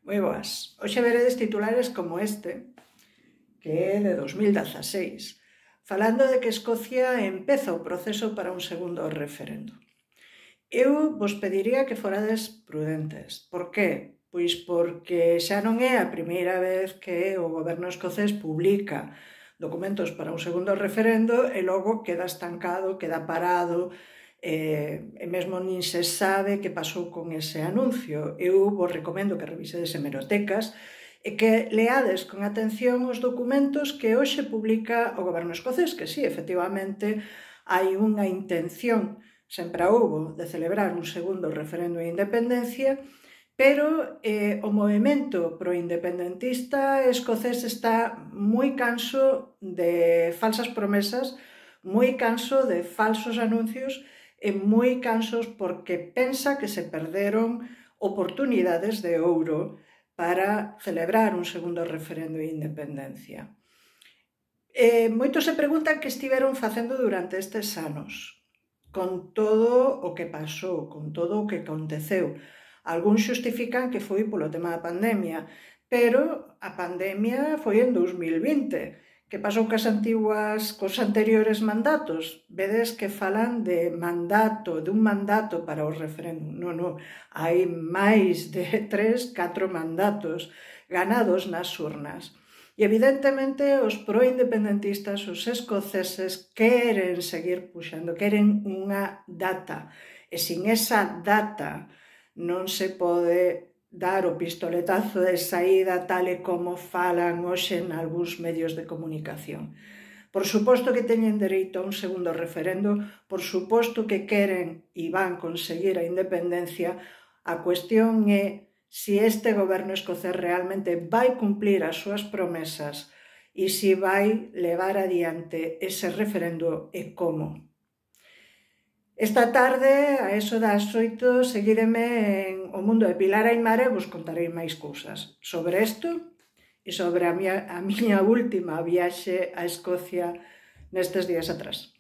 Moi boas. Hoxe veredes titulares como este, que é de 2016, falando de que Escocia empeza o proceso para un segundo referendo. Eu vos pediría que forades prudentes. Por qué? Pois porque xa non é a primeira vez que o goberno escocés publica documentos para un segundo referendo e logo queda estancado, queda parado, e mesmo nin se sabe que pasou con ese anuncio. Eu vos recomendo que revisedes hemerotecas e que leades con atención os documentos que hoxe publica o goberno escocés, que sí, efectivamente, hai unha intención, sempre a houbo, de celebrar un segundo referendo de independencia, pero o movemento proindependentista escocés está moi canso de falsas promesas, moi canso de falsos anuncios e moi cansos porque pensa que se perderon oportunidades de ouro para celebrar un segundo referendo de independencia. Moitos se preguntan que estiveron facendo durante estes anos, con todo o que pasou, con todo o que aconteceu. Algúns xustifican que foi polo tema da pandemia, pero a pandemia foi en 2020. Que pasou cos anteriores mandatos? Vedes que falan de dun mandato para o referéndum. Non, hai máis de 3, 4 mandatos ganados nas urnas. E evidentemente os proindependentistas, os escoceses, queren seguir puxando, queren unha data. E sin esa data non se pode dar o pistoletazo de saída tal e como falan hoxe en algúns medios de comunicación. Por suposto que teñen dereito a un segundo referendo, por suposto que queren e van conseguir a independencia. A cuestión é se este goberno escocés realmente vai cumplir as súas promesas e se vai levar adiante ese referendo e como. Esta tarde, a eso das 8, seguídeme en O Mundo de Pilar Aimar e vos contarei máis cousas sobre isto e sobre a miña última viaxe a Escocia nestes días atrás.